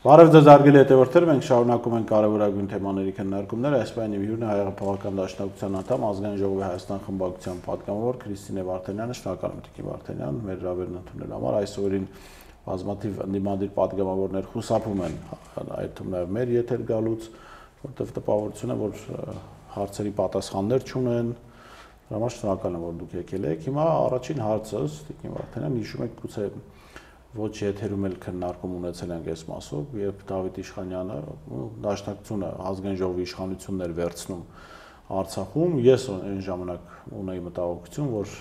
Բարև ձեզ հարգելի հետևորդներ, մենք շարունակում ենք կարևորագույն թեմաների քննարկումները, այս պահին իմ հյուրն է Հայ-Հեղափոխական դաշնակցության անդամ, Ազգային ժողովի Հայաստան խմբակցության պատգամավոր Քրիստինե Վարդանյանը, շնորհակալ եմ Տիկին Վարդանյան, մեր հրավերն ընդունելու համար, այսօրին բազմաթիվ ընդդիմադիր պատգամավորներ խուսափում են այդ թվում նաև մեր եթեր գալուց, որտեղ տպավորություն է, որ հարցերի պատասխաններ չունեն, դրա համար շնորհակալ եմ, որ դուք եկել եք։ Հիմա առաջին հարցս, Տիկին Վարդանյան, հիշում եք գուցե ոչ եթերում էլ քննարկում ունեցել ենք այս մասով, երբ Դավիթ Իշխանյանը դաշնակցությունը ազգային ժողովի իշխանություններ վերցնում Արցախում, ես այն ժամանակ ունեի մտահոգություն, որ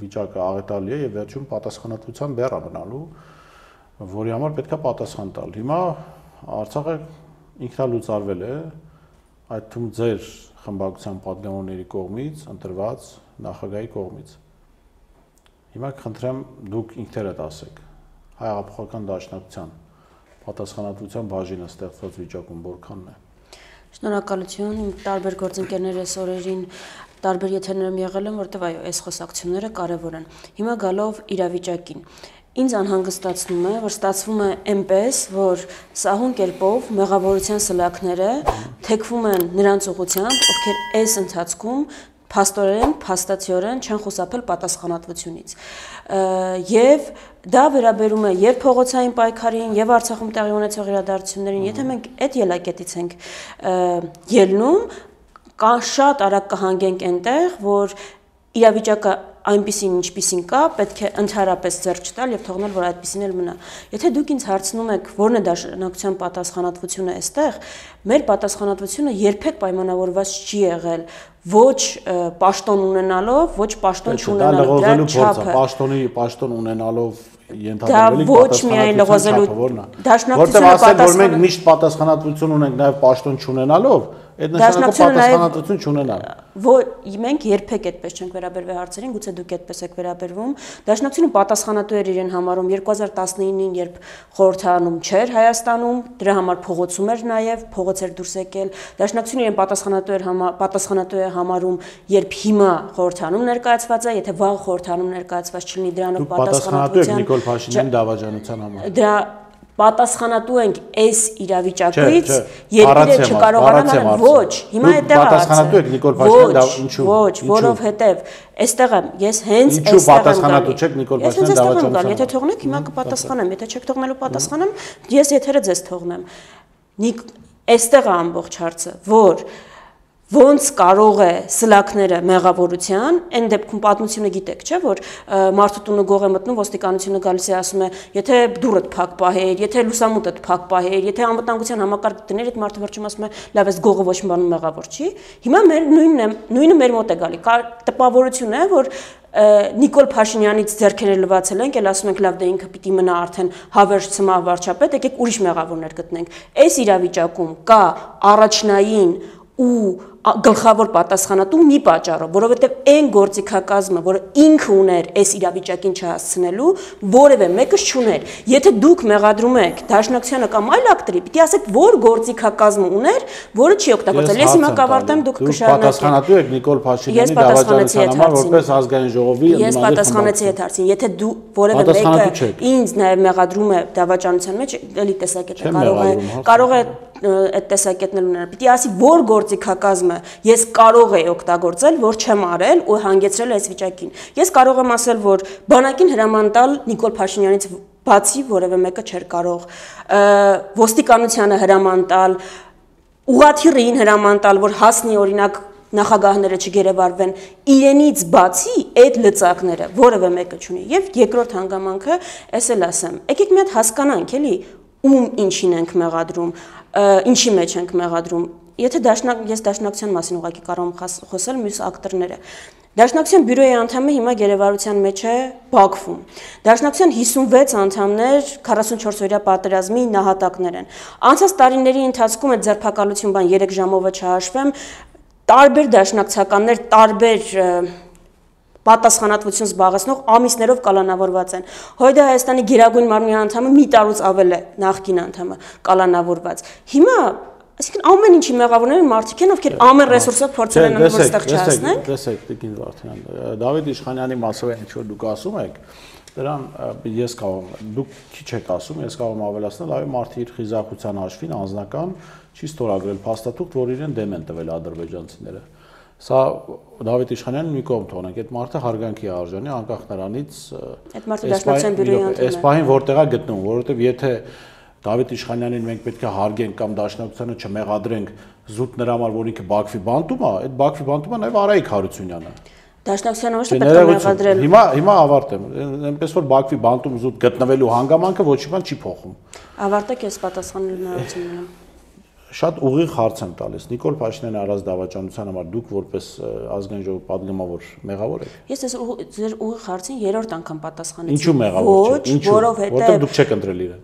վիճակը աղետալի է եւ վերջում պատասխանատվության բեռ մնալու, որի համար պետք է պատասխան տալ։ Հիմա Արցախը ինքնալուծարվել է, այդ թվում ձեր խմբակցության պատգամավորների կողմից, ընտրված նախագահի կողմից։ Հիմա կխնդրեմ դուք ինքներդ ասեք Հայ-Հեղափոխական դաշնակցության պատասխանատվության բաժինը ստեղծված վիճակում որքանն է։ Շնորհակալություն, իմ տարբեր գործընկերներ այս օրերին տարբեր եթերներում եղել են, որտեղ այո, այս խոսակցությունները կարևոր են։ Հիմա գալով իրավիճակին, ինձ անհանգստացնում է, որ ստացվում է այնպես, որ սահուն կերպով մեղավորության սլաքները թեքվում են նրանց ուղղությամբ, ովքեր այս ընթացքում փաստորեն, փաստացիորեն չեն խուսափել պատասխանատվությունից։ Եվ դա վերաբերում է եւ փողոցային պայքարին, եւ Արցախում տեղի ունեցող իրադարձություններին, եթե մենք այդ ելակետից ենք ելնում, շատ արագ կհանգենք այնտեղ, որ իրավիճակը այնպիսին ինչպիսին կա, պետք է ընդհանրապես ձեռք չտալ եւ թողնել, որ այդպիսին էլ մնա։ Եթե դուք ինձ հարցնում եք, որն է դաշնակցության պատասխանատվությունը այստեղ, մեր պատասխանատվությունը երբեք պայմանավորված չի եղել ոչ պաշտոն ունենալով, ոչ պաշտոն չունենալով, դրա չափը, պաշտոն ունենալով ենթադրվելիք պատասխանատվության որտեղ ասել, որ մենք միշտ պատասխանատվություն ունենք նաև պաշտոն չունենալով, այդ նշանակով պատասխանատվություն չունենալ։ Մենք երբեք այդպես չենք վերաբերվել հարցերին, գուցե դուք այդպես եք վերաբերվում։ Դաշնակցությունը պատասխանատու էր իրեն համարում 2019-ին, երբ խորհրդարանում չէր Հայաստանում, դրա համար փողոցում էր նաև, փողոց էր դուրս եկել։ Դաշնակցությունը իրեն պատասխանատու է համարում, երբ հիմա խորհրդարանում ներկայացված է, եթե վաղ խորհրդարանում ներկայացված չլինի, դրանով պատասխանատվության Նիկոլ Փաշինյանի դավաճանության համար։ Դրա պատասխանատու ենք այս իրավիճակից, երկիրը չկարողանան անել, ոչ, հիմա այդտեղ է պատասխանատու եք Նիկոլ Փաշինյանի ինչու։ Ոչ, որովհետև այստեղ եմ, ես հենց այստեղ եմ պատասխանատու չեք Նիկոլ Փաշինյանի դավաճանության։ Եթե թողնեք, հիմա կպատասխանեմ, եթե չեք թողնելու պատասխանեմ, ես եթերը ձեզ թողնեմ։ Այստեղ է ամբողջ հարցը, որ ոնց կարող է սլաքները մեղավորության, այն դեպքում պատմությունը գիտեք, չէ՞, որ մարդու տունը գող է մտնում, ոստիկանությունը գալիս է ասում է, եթե դուռդ փակ պահեր, եթե լուսամուտդ փակ պահեր, եթե անվտանգության համակարգ դներ, այդ մարդը վերջում ասում է, լավ, այս գողը ոչ մի բանում մեղավոր չի։ Հիմա մեր նույնը մեր մոտ է գալի։ Տպավորություն է, որ Նիկոլ Փաշինյանից ձեռքերը լվացել ենք, էլ ասում ենք լավ դե ինքը պիտի մնա արդեն հավերժ ցմահ վարչապետ, եկեք ուրիշ մեղավորներ գտնենք։ Այս իրավիճակում կա առաջնային ու գլխավոր պատասխանատու մի պատճառով, որովհետև այն գործիքակազմը, որը ինքը ուներ այս իրավիճակին չհասցնելու, որևէ մեկը չուներ։ Եթե դուք մեղադրում եք Դաշնակցությանը կամ այլ ակտորի, պիտի ասեք, որ գործիքակազմը ուներ, որը չի օգտագործել։ Ես հիմա կավարտեմ, դուք կշարունակեք։ Պատասխանատու եք Նիկոլ Փաշինյանի դավաճանության համար, որպես ազգային ժողովի Ես պատասխանեցի այդ հարցին։ Եթե դու որևէ մեկը ինձ նաև մեղադրում է դավաճանության մեջ, էլի տեսակետը կարող է այդ տեսակետներ ունենալ։ Պիտի ասի, որ գործիքակազմը ես կարող եի օգտագործել, որ չեմ արել ու հանգեցրել այս վիճակին։ Ես կարող եմ ասել, որ բանակին հրաման տալ Նիկոլ Փաշինյանից բացի որևէ մեկը չէր կարող, ոստիկանությանը հրաման տալ, ուղղաթիռին հրաման տալ, որ հասնի օրինակ նախագահները չգերեվարվեն, իրենից բացի այդ լծակները որևէ մեկը չունի։ Եվ երկրորդ հանգամանքը, ես էլ ասեմ, եկեք մի հատ հասկանանք, էլի, ում ինչին ենք մեղադրում, ինչի մեջ ենք մեղադրում։ Եթե ես դաշնակցության մասին ուղղակի կարող եմ խոսել մյուս ակտորները։ Դաշնակցության բյուրոյի անդամը հիմա գերեվարության մեջ է Բաքվում։ Դաշնակցության 56 անդամներ 44-օրյա պատերազմի նահատակներ են։ Անցած տարիների ընթացքում այդ ձերբակալություն բան 3 ժամով չհաշվեմ, տարբեր դաշնակցականներ, տարբեր պատասխանատվություն զբաղեցնող ամիսներով կալանավորված են։ Հույդա Հայաստանի Գերագույն մարմնի անդամը մի տարուց ավել է նախկին անդամը կալանավորված։ Հիմա այսինքն ամեն ինչի մեղավորներ են մարդիկ են, ովքեր ամեն ռեսուրսով փորձել են որ ստեղ չհասնեն։ Տեսեք, Տիկին Վարդանյան, Դավիթ Իշխանյանի մասով ինչ որ դուք ասում եք, Դրան ես կարող եմ, դուք քիչ եք ասում, ես կարող եմ ավելացնել, այո, մարդը իր խիզախության հաշվին անձնական չի ստորագրել փաստաթուղթ, որ իրեն դեմ են տվել ադրբեջանցիները։ Սա Դավիթ Իշխանյանն մի կողմ թողնենք, այդ մարդը հարգանքի արժանի, անկախ նրանից այդ մարդը Դաշնակցության բյուրոյի անդամ է։ Այս պահին որտեղ է գտնվում, որովհետև եթե Դավիթ Իշխանյանին մենք պետք է հարգենք կամ Դաշնակցությանը չմեղադրենք զուտ նրա համար, որ ինքը Բաքվի բանտում է, այդ Բաքվի բանտումը նաև Արայիկ Հարությունյանը։ Դաշնակցությանը ոչ թե պետք է մեղադրել։ Հիմա ավարտեմ, այնպես որ Բաքվի բանտում զուտ գտնվելու հանգամանքը ոչ մի բան չի փոխում։ Ավարտեք, ես պատասխանելու հնարավորություն ունեմ։ Շատ ուղիղ հարց եմ տալիս։ Նիկոլ Փաշինյանի արած դավաճանության համար դուք որպես ազգային ժողովի падգամավոր մեղավոր եք։ Ես ձեր ուղիղ հարցին երրորդ անգամ պատասխանեցի։ Ինչու մեղավոր չեք։ Ինչու, որովհետև դուք չեք ընտրել իրեն։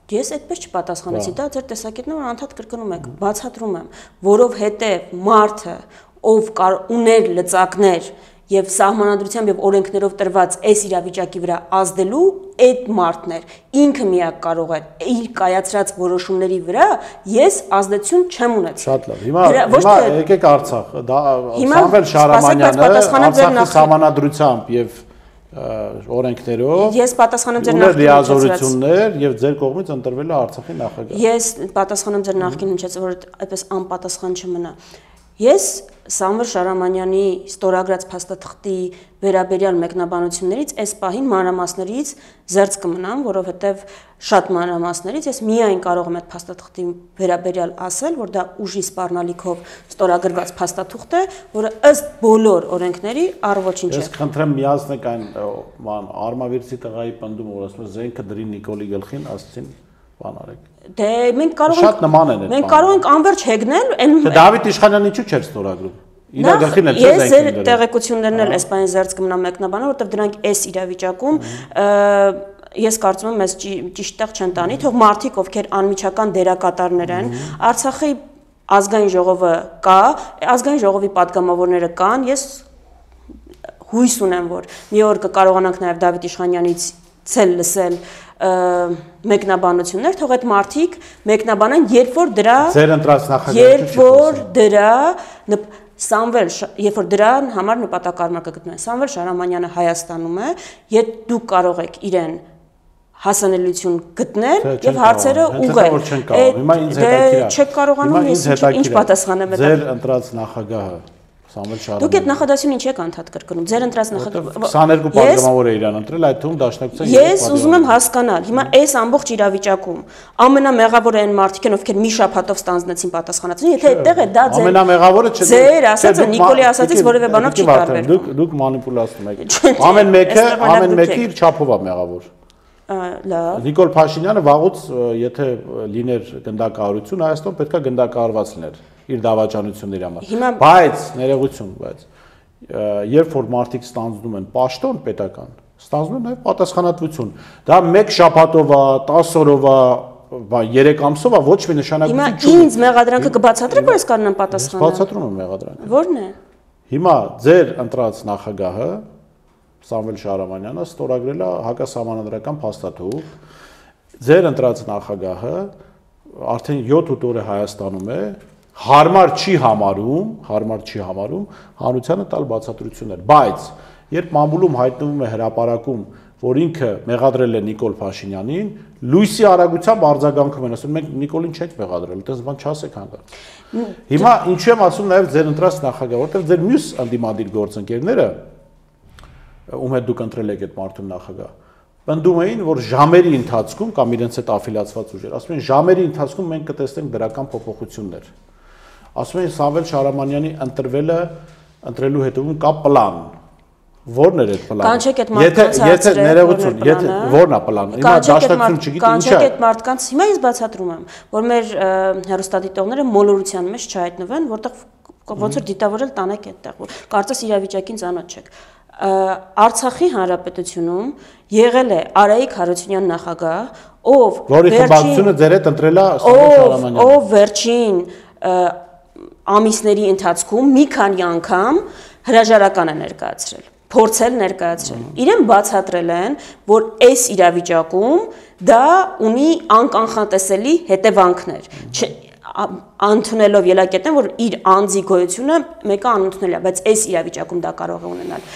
Ես այդպես չպատասխանեցի, դա ձեր տեսակետն է, որ անդադ կրկնում եք, բացատրում եմ, որովհետև մարդը, ով ուներ լծակներ եւ սահմանադրությամբ եւ օրենքներով տրված այս իրավիճակի վրա ազդելու, այդ մարդն էր, ինքը միակ կարող էր իր կայացրած որոշումների վրա ես ազդեցություն չեմ ունեցել։ Շատ լավ։ Հիմա եկեք Արցախ, դա Սամվել Շահրամանյանը Արցախի սահմանադրությամբ եւ օրենքներով ես պատասխանում ձեր նախկին լիազորություններ եւ ձեր կողմից ընտրվել է Արցախի նախագահ։ Ես պատասխանում ձեր նախկին հնչեց, որ այդպես անպատասխան չմնա։ Ես Սամվել Շահրամանյանի ստորագրած փաստաթղթի վերաբերյալ մեկնաբանություններից այս պահին մանրամասներից զերծ կմնամ, որովհետև շատ մանրամասներից ես միայն կարող եմ այդ փաստաթղթի վերաբերյալ ասել, որ դա ուժի սպառնալիքով ստորագրված փաստաթուղթ է, որը ըստ բոլոր օրենքների առ-ոչինչ է։ Ես խնդրեմ միացնեք այն Արմավիրցի տղայի պնդումը, որ ասում է զենքը դրի Նիկոլի գլխին, ասեցին բան արեք։ Դե մենք կարող ենք շատ նման են այդ։ Մենք կարող ենք անverջ հեգնել, Դե Դավիթ Իշխանյանը ինչու՞ չէր ստորագրում։ Իրա գլխին էլ ես ձեր տեղեկություններն էլ այս բանի զերծ կմնամ մեկնաբանը, որովհետև դրանք այս իրավիճակում ես կարծում եմ մեզ ճիշտ տեղ չեն տանի, թող մարդիկ, ովքեր անմիջական դերակատարներ են, Արցախի ազգային ժողովը կա, ազգային ժողովի падգամավորները կան, ես հույս ունեմ, որ մի օր կկարողանանք նաև Դավիթ Իշխանյանից ցել լսել մեկնաբանություններ, թող այդ մարդիկ մեկնաբանեն, երբ որ դրա ձեր ընտրած նախագահը երբ որ դրան համար նպատակարար կգտնվեն։ Սամվել Շահրամանյանը Հայաստանում է, եթե դուք կարող եք իրեն հասանելիություն գտնել եւ հարցերը ուղղել։ Հիմա ինձ հետաքրքիր է։ Չեք կարողանում ես ինչ պատասխանեմ այդ։ Ձեր ընտրած նախագահը Սամվել Շահրամանյանը։ Դուք այդ նախադասությունը ինչ եք անդադ կրկնում։ Ձեր ընտրած նախագահը 22 падգամավոր է իրան ընտրել, այդ թվում Դաշնակցության։ Ես ուզում եմ հասկանալ, հիմա այս ամբողջ իրավիճակում ամենամեղավորը այն մարդիկ են, ովքեր մի շաբաթով ստանձնեցին պատասխանատվություն, եթե այդտեղ է դա ձեր ամենամեղավորը չէ։ Ձեր ասածը Նիկոլի ասածից որևէ բանով չի տարբերվում։ Դուք մանիպուլացնում եք։ Ամեն մեկը իր չափով է մեղավոր։ Լավ։ Նիկոլ Փաշինյանը վաղուց եթե լիներ գնդակահարություն Հայաստան պետքա գնդակահարված լիներ իր դավաճանությունների համար։ Բայց ներողություն, բայց երբ որ մարդիկ ստանձնում են պաշտոն պետական, ստանձնում են նաև պատասխանատվություն։ Դա 1 շաբաթով է, 10 օրով է, 3 ամսով է, ոչ մի նշանակություն չունի։ Հիմա ինձ մեղադրանքը կբացատրեք, որ ես կարող եմ պատասխանել։ Բացատրում եմ մեղադրանքը։ Ո՞րն է։ Հիմա ձեր ընտրած նախագահը Սամվել Շահրամանյանը ստորագրել է հակասահմանադրական փաստաթուղթ։ Ձեր ընտրած նախագահը արդեն 7-8 օր է Հայաստանում է, հարմար չի համարում հանրությանը տալ բացատրություններ, բայց երբ մամուլում հայտնվում է հրապարակում, որ ինքը մեղադրել է Նիկոլ Փաշինյանին, լույսի արագությամբ արձագանքում են, ասում մենք Նիկոլին չենք մեղադրել, այդպես բան չասեք հանգարց։ Հիմա ինչու եմ ասում նաև ձեր ընտրած նախագահը, որովհետև ձեր մյուս անդիմադիր գործընկերները ում հետ դուք ընտրել եք այդ մարդուն նախագահ, պնդում էին, որ ժամերի ընթացքում կամ իրենց հետ աֆիլիացված ուժեր, ասում են ժամերի ընթացքում մենք կտեսնենք դրական փոփոխություններ։ Ասում են Սամվել Շահրամանյանի ընտրելու հետևում կա պլան։ Ո՞րն էր այդ պլանը։ Կանչեք այդ մարդկանց Եթե ներողություն, եթե ո՞րն է պլանը։ Հիմա Դաշնակցություն չգիտի ինչ է։ Կանչեք այդ մարդկանց, հիմա ես բացատրում եմ, որ մեր հեռուստադիտողները մոլորության մեջ չհայտնվեն, որտեղ ոնց որ դիտավորել տանեք այդտեղ, կարծես իրավիճակին ծանոթ չեք։ Արցախի հանրապետությունում եղել է Արայիկ Հարությունյան նախագահ, ով որի խմբակցությունը ձեր հետ ընտրել է Սամվել Շահրամանյանը։ Ով վերջին ամիսների ընթացքում մի քանի անգամ հրաժարական է ներկայացրել, փորձել ներկայացրել։ Իրեն բացատրել են, որ այս իրավիճակում դա ունի անկանխատեսելի հետևանքներ։ Ընդունելով ելակետն, որ իր անձի գոյությունը մեկը անընդունել է, բայց այս իրավիճակում դա կարող է ունենալ։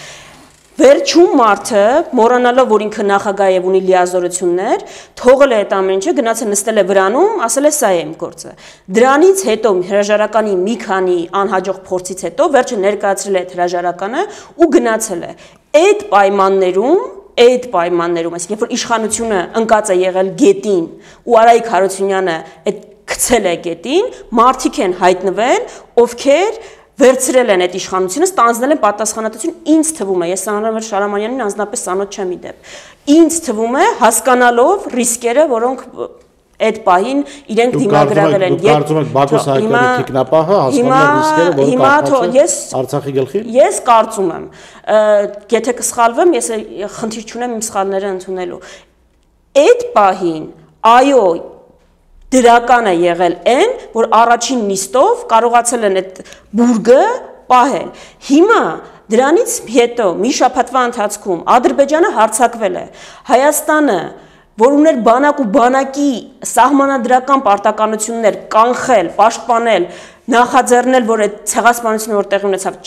Վերջում մարդը մոռանալով որ ինքը նախագահ է ունի լիազորություններ, թողել է այդ ամեն ինչը, գնաց է նստել է վրանում, ասել է սա է իմ գործը։ Դրանից հետո հրաժարականի մի քանի անհաջող փորձից հետո վերջը ներկայացրել է հրաժարականը ու գնացել է։ Այդ պայմաններում, այսինքն որ իշխանությունը ընկած է եղել գետին ու Արայիկ Հարությունյանը այդ գցել է գետին, մարդիկ են հայտնվել, ովքեր վերցրել են այդ իշխանությունը, ստանձնել են պատասխանատվություն, ինձ թվում է, ես Սամվել Շարամանյանին անձնապես ծանոթ չեմ իդեպ։ Ինձ թվում է հասկանալով ռիսկերը, որոնք այդ պահին իրենք դիմագրավել են։ Դուք կարծում եք Բակո Սահակյանի թիկնապահը հասկանալ ռիսկերը, որը կապված է Արցախի գլխին։ Ես կարծում եմ, եթե կսխալվեմ, ես խնդիր չունեմ իմ սխալները ընդունելու։ Այդ պահին, այո, դրական է եղել այն, որ առաջին նիստով կարողացել են այդ բուրգը պահել։ Հիմա դրանից հետո մի շաբաթվա ընթացքում Ադրբեջանը հարձակվել է։ Հայաստանը, որ ուներ բանակ ու բանակի սահմանադրական պարտականություններ կանխել, պաշտպանել, նախաձեռնել, որ այդ ցեղասպանությունը որ տեղի ունեցավ,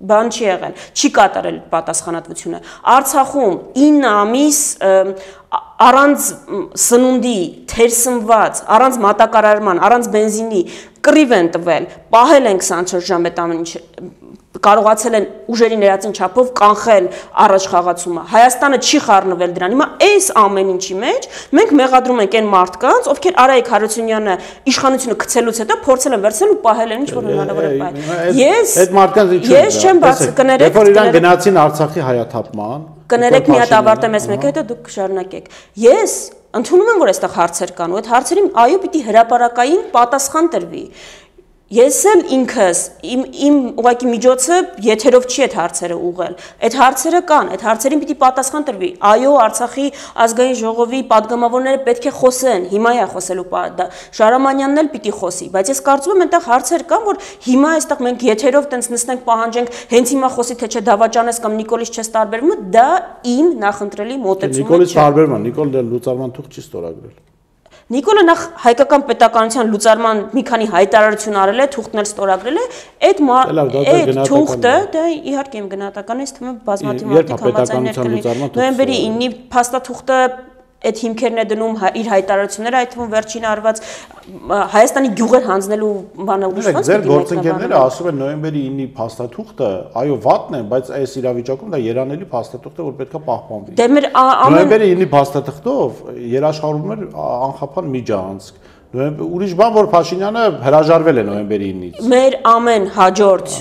բան չի եղել, չի կատարել պատասխանատվությունը։ Արցախում 9 ամիս առանց սնունդի, թերսնված, առանց մատակարարման, առանց բենզինի կռիվ են տվել, պահել են 24 ժամ այդ ամեն ինչ, կարողացել են ուժերի ներածին չափով կանխել առաջխաղացումը։ Հայաստանը չի խառնվել դրան։ Հիմա այս ամեն ինչի մեջ մենք մեղադրում ենք այն մարդկանց, ովքեր Արայիկ Հարությունյանը իշխանությունը գցելուց հետո փորձել են վերցնել ու պահել են ինչ որ հնարավոր է պահել։ Այդ մարդկանց ինչու՞։ Ես չեմ բաց կներեք։ Երբ որ իրան գնացին Արցախի հայաթափման, կներեք մի հատ ավարտեմ ես մեկ հետո դուք շարունակեք։ Ես ընդունում եմ որ այստեղ հարցեր կան ու այդ հարցերին այո պիտի հրապարակային պատասխան տրվի։ Ես էլ ինքս իմ ուղղակի միջոցը եթերով չի այդ հարցերը ուղղել։ Այդ հարցերը կան, այդ հարցերին պիտի պատասխան տրվի։ Այո, Արցախի ազգային ժողովի падգամավորները պետք է խոսեն, հիմա է խոսելու Շարամանյանն էլ պիտի խոսի, բայց ես կարծում եմ այնտեղ հարցեր կան, որ հիմա այստեղ մենք եթերով տենց նստենք պահանջենք, հենց հիմա խոսի թե չէ դավաճանես կամ Նիկոլից չես տարբերվում, դա իմ նախընտրելի մոտեցումը չէ։ Նիկոլից տարբերվում, Նիկոլը լուծարման թուղթ չի ստորագրել։ Նիկոլը նախ հայկական պետականության լուծարման մի քանի հայտարարություն արել է, թուղթն էլ ստորագրել է, այդ թուղթը, դա իհարկե իմ գնահատականն է, թվում է բազմաթիվ մարդիկ համաձայններ կլինի։ Նոյեմբերի 9-ի փաստաթուղթը այդ հիմքերն է դնում իր հայտարարությունները, այդ թվում վերջին արված Հայաստանի գյուղեր հանձնելու բանը ուշված։ Ձեր գործընկերները ասում են նոյեմբերի 9-ի փաստաթուղթը, այո, վատն է, բայց այս իրավիճակում դա երանելի փաստաթուղթ է, որ պետք է պահպանվի։ Դե մեր նոյեմբերի 9-ի փաստաթղթով երաշխավորում էր անխափան միջանցք։ Ուրիշ բան, որ Փաշինյանը հրաժարվել է նոյեմբերի 9-ից։ Մեր ամեն հաջորդ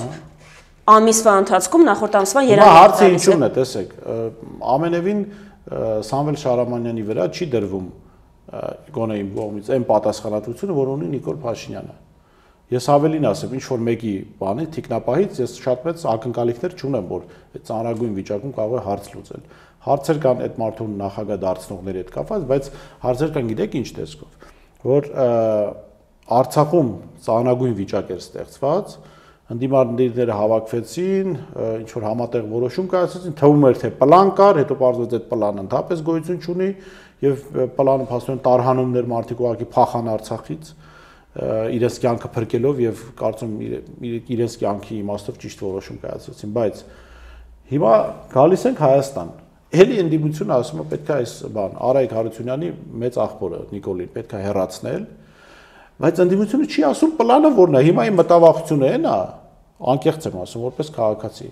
ամիսվա ընթացքում նախորդ ամսվա երանելի։ Հարցը ինչու՞ն է, տեսեք, ամենևին Սամվել Շարամանյանի վրա չի դրվում գոնե իմ կողմից այն պատասխանատվությունը, որ ունի Նիկոլ Փաշինյանը։ Ես ավելին ասեմ, ինչ որ մեկի բանի թիկնապահից ես շատ մեծ ակնկալիքներ չունեմ, որ այդ ծանրագույն վիճակում կարող է հարց լուծել։ Հարցեր կան այդ մարդուն նախագահ դարձնողների հետ կապված, բայց հարցեր կան գիտեք ինչ տեսքով, որ Արցախում ծանրագույն վիճակ էր ստեղծված, ընդդիմադիրները հավաքվեցին, ինչ որ համատեղ որոշում կայացրեցին, թվում էր թե պլան կար, հետո պարզվեց այդ պլանը ընդհանրապես գոյություն չունի եւ պլանը փաստորեն տարհանումներ մարդիկ ուղղակի փախան Արցախից իրենց կյանքը փրկելով եւ կարծում իրենց կյանքի իմաստով ճիշտ որոշում կայացրեցին, բայց հիմա գալիս ենք Հայաստան։ Էլի ընդդիմությունը ասում է պետք է այս բան Արայիկ Հարությունյանի մեծ աղբորը Նիկոլին պետք է հեռացնել, բայց ընդդիմությունը չի ասում պլանը որն է։ Հիմա իմ մտավախությունը այն է, անկեղծ եմ ասում, որպես քաղաքացի,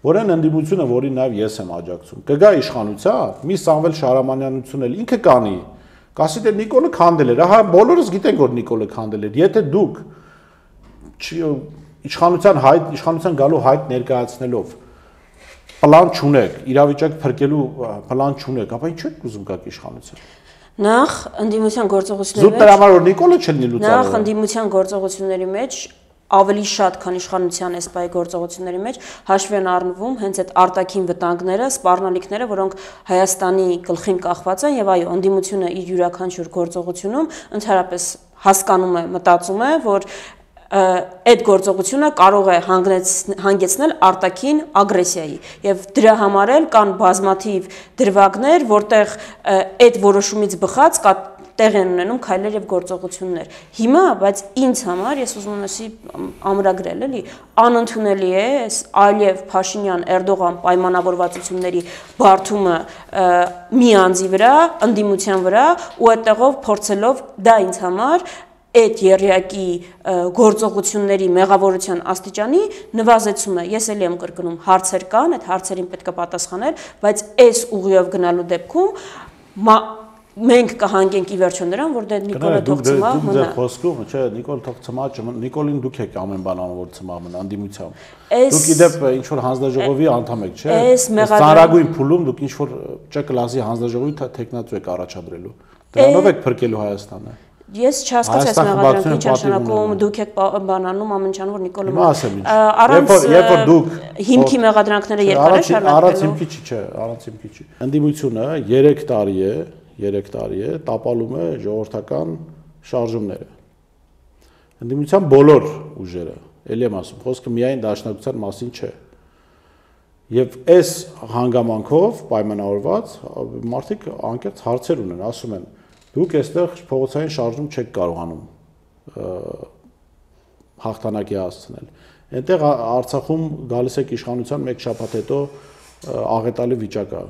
որ այն ընդդիմությունը, որին նաև ես եմ աջակցում, կգա իշխանության, մի Սամվել Շարամանյանություն էլ ինքը կանի, կասի թե Նիկոլը քանդել էր, ահա բոլորս գիտենք, որ Նիկոլը քանդել էր, եթե դուք իշխանության գալու հայտ ներկայացնելով պլան չունեք, իրավիճակ փրկելու պլան չունեք, ապա ինչ եք ուզում գաք իշխանության։ Նախ ընդդիմության գործողությունների մեջ Զուտ դրա համար որ Նիկոլը չլինի լուծարը։ Նախ ընդդիմության գործողությունների մեջ ավելի շատ, քան իշխանության էսպայի գործողությունների մեջ հաշվի են առնվում հենց այդ արտաքին վտանգները, սպառնալիքները, որոնք Հայաստանի գլխին կախված են եւ այո, ընդդիմությունը իր յուրաքանչյուր գործողությունում ընդհանրապես հասկանում է, մտածում է, որ այդ գործողությունը կարող է հանգեցնել արտաքին ագրեսիայի եւ դրա համար էլ կան բազմաթիվ դրվագներ, որտեղ այդ որոշումից բխած տեղ են ունենում քայլեր եւ գործողություններ։ Հիմա, բայց ինձ համար ես ուզում եմ ասի ամրագրել, էլի, անընդունելի է Ալիև, Փաշինյան, Էրդողան պայմանավորվածությունների բարդումը մի անձի վրա, ընդդիմության վրա ու այդտեղով փորձելով դա ինձ համար այդ երյակի գործողությունների մեղավորության աստիճանի նվազեցում է։ Ես էլի եմ կրկնում, հարցեր կան, այդ հարցերին պետք է պատասխանել, բայց այս ուղիով գնալու դեպքում մենք կհանգենք ի վերջո նրան, որ դե Նիկոլը թող ծմա մնա։ Դուք խոսքում, չէ, Նիկոլ թող ծմա, Նիկոլին դուք եք ամեն բան անում, որ ծմա մնա անդիմությամբ։ Դուք իդեպ ինչ որ հանձնաժողովի անդամ եք, չէ։ Ծանրագույն փուլում դուք ինչ որ Չ կլասի հանձնաժողովի թեկնածու եք առաջադրելու։ Դրանով եք փրկելու Հայաստանը։ Ես չհասկացա այս մեղադրանքի ինչ նշանակում դուք եք բանանում ամենչան որ Նիկոլը երբ որ դուք հիմքի մեղադրանքները երկար է շարունակվելու առանց հիմքի չի, չէ, առանց հիմքի չի։ Ընդդիմությունը 3 տարի է տապալում է ժողովրդական շարժումները։ Ընդդիմության բոլոր ուժերը, ելի եմ ասում, խոսքը միայն դաշնակցության մասին չէ։ Եվ այս հանգամանքով պայմանավորված մարդիկ անկեղծ հարցեր ունեն, ասում են դուք այստեղ փողոցային շարժում չեք կարողանում հաղթանակի հասցնել։ Այնտեղ Արցախում գալիս եք իշխանության մեկ շաբաթ հետո աղետալի վիճակ է։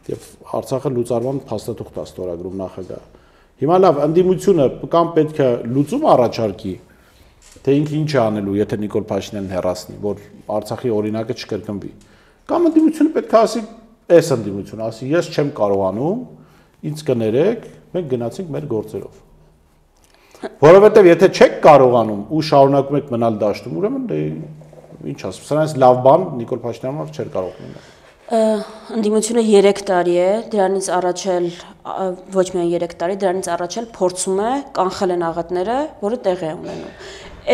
Եվ Արցախը լուծարման փաստաթուղթ է ստորագրում նախագահը։ Հիմա լավ, ընդդիմությունը կամ պետք է լուծում առաջարկի, թե ինքը ինչ է անելու, եթե Նիկոլ Փաշինյանն հեռացնի, որ Արցախի օրինակը չկրկնվի։ Կամ ընդդիմությունը պետք է ասի, այս ընդդիմությունը ասի, ես չեմ կարողանում, ինձ կներեք, մենք գնացինք մեր գործերով։ Որովհետև եթե չեք կարողանում ու շարունակում եք մնալ դաշտում, ուրեմն դե ինչ ասեմ, սրանից լավ բան Նիկոլ Փաշինյանը չէր կարող լինել։ Ընդդիմությունը 3 տարի է, դրանից առաջ էլ ոչ միայն 3 տարի, դրանից առաջ էլ փորձում է կանխել են աղետները, որը տեղ է ունենում։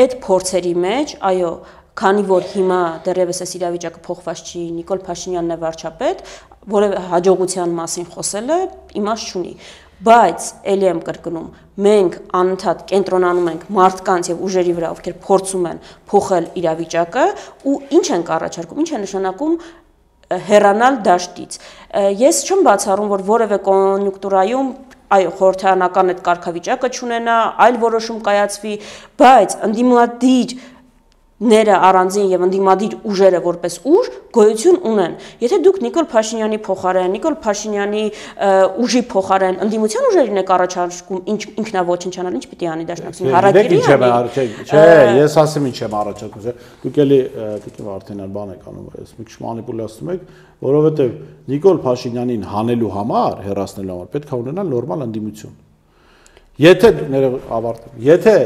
Այդ փորձերի մեջ, այո, քանի որ հիմա դեռևս այս իրավիճակը փոխված չի, Նիկոլ Փաշինյանն է վարչապետ, որևէ հաջողության մասին խոսելը իմաստ չունի։ Բայց ելի եմ կրկնում, մենք անընդհատ կենտրոնանում ենք մարդկանց եւ ուժերի վրա, ովքեր փորձում են փոխել իրավիճակը ու ինչ են առաջարկում, ինչ է նշանակում հեռանալ դաշտից։ Ես չեմ բացառում, որ որևէ կոնյունկտուրայում այո, խորհրդարանական այդ կարգավիճակը չունենա, այլ որոշում կայացվի, բայց ընդդիմադիր ները առանձին եւ ընդդիմադիր ուժերը որպես ուժ գոյություն ունեն։ Եթե դուք Նիկոլ Փաշինյանի փոխարեն, Նիկոլ Փաշինյանի ուժի փոխարեն ընդդիմության ուժերին եք առաջարկում ինքնաոչնչանալ, ինչ պիտի անի դաշնակցությունը։ Հարակիրի չէ, ես ասեմ ինչ եմ առաջարկում, դուք էլի դուք Վարդենյան բան եք անում, ես մի քիչ մանիպուլացնում եք, որովհետեւ Նիկոլ Փաշինյանին հանելու համար, հեռացնելու համար պետք է ունենալ նորմալ ընդդիմություն։ Եթե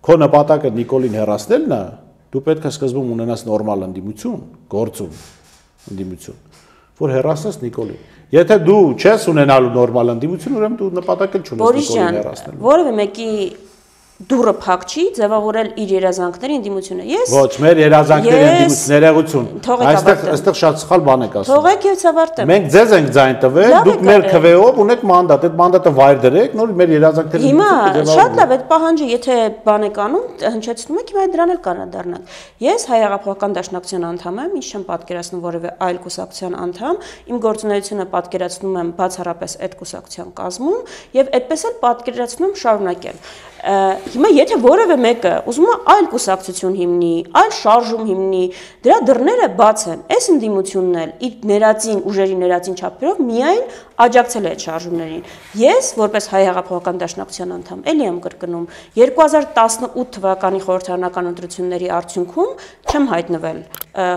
քո նպատակը Նիկոլին հեռացնելն է, դու պետք է սկզբում ունենաս նորմալ ընդդիմություն, գործուն ընդդիմություն, որ հեռացնես Նիկոլին։ Եթե դու չես ունենալու նորմալ ընդդիմություն, ուրեմն դու նպատակ չունես Նիկոլին հեռացնելու։ Որևէ մեկի դուրը փակ չի ձևավորել իր երազանքների ընդդիմությունը։ Ես ոչ, մեր երազանքների ընդդիմություն ներողություն։ Այստեղ շատ սխալ բան եք ասում։ Թողեք եւ ցավարտեմ։ Մենք ձեզ ենք ձայն տվել, դուք մեր քվեով ունեք մանդատ, այդ մանդատը վայր դրեք, նոր մեր երազանքների Հիմա շատ լավ, այդ պահանջը եթե բան եք անում, հնչեցնում եք, հիմա դրան էլ կանադառնանք։ Ես Հայ Հեղափոխական Դաշնակցության անդամ եմ, ինչ չեմ պատկերացնում որևէ այլ կուսակցության անդամ, իմ գործունեությունը պատկերացնում եմ բացառապես այդ կուսակցության կազմում եւ այդպես էլ պատկերացնում եմ շարունակել։ Հիմա եթե որևէ մեկը ուզում է այլ կուսակցություն հիմնի, այլ շարժում հիմնի, դրա դռները բաց են։ Այս ընդդիմությունն էլ իր ներածին ուժերի ներածին չափերով միայն աջակցել է այդ շարժումներին։ Ես որպես Հայ Հեղափոխական Դաշնակցության անդամ էլի եմ կրկնում 2018 թվականի խորհրդարանական ընտրությունների արդյունքում չեմ հայտնվել